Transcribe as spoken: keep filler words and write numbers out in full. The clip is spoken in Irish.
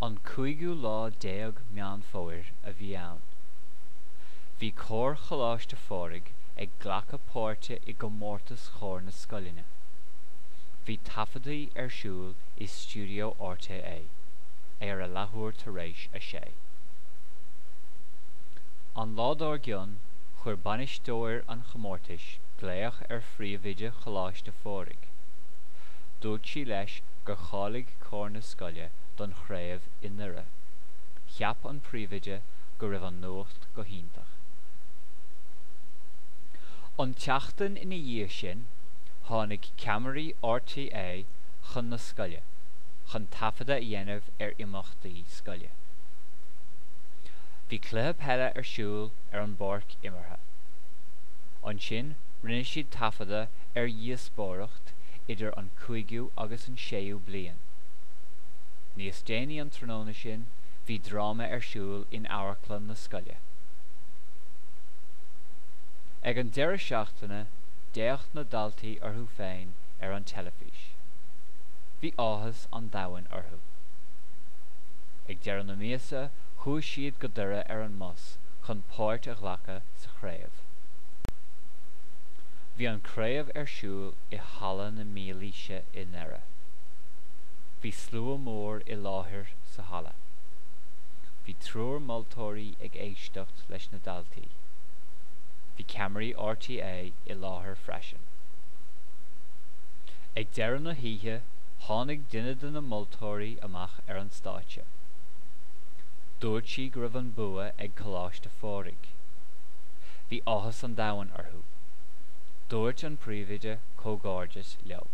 An cúigiú lá déag Meán Fómhair a bhí ann. Bhí Cór Choláiste Phádraig ag glacadh páirte i gcomórtas chór na scoileanna. Bhí taifeadtaí ar siúl i stiúideo RTÉ ar a leathuair tar éis a sé. An lá dár gcionn, chuir bainisteoir an chomórtais glaoch ar phríomhoide Choláiste Phádraig. Dúirt sí leis gur cháiligh cór na scoile don chraobh i nDoire. Cheap an príomhoide go raibh an nuacht go hiontach. An tseachtain ina dhiaidh sin, tháinig ceamaraí RTÉ chun na scoile, chun taifeadadh a dhéanamh ar imeachtaí scoile. Bhí cluiche peile ar siúl ar an bpáirc imeartha. Ansin rinne siad taifeadadh ar dhíospóireacht idir an cúigiú agus an séú bliain. Níos déanaí an tráthnóna sin, bhí dráma ar siúl in amharclann na scoile. Ag an deireadh seachtaine, d'fhéach na daltaí orthu féin ar an teilifís. Bhí áthas an domhain orthu. Ag deireadh na míosa, chuaigh siad go Doire ar an mbus chun páirt a ghlacadh sa chraobh. Bhí an chraobh ar siúl i Halla na Mílaoise i nDoire. Bhí slua mór i láthair sa halla. Bhí triúr moltóirí ag éisteacht leis na daltaí. Bhí ceamaraí RTÉ i láthair freisin. Ag deireadh na hoíche, tháinig duine de na moltóirí amach ar an stáitse. Dúirt sí go raibh an bua ag Coláiste Phádraig. Bhí áthas an domhain orthu. Dúirt an príomhoide comhghairdeas leo.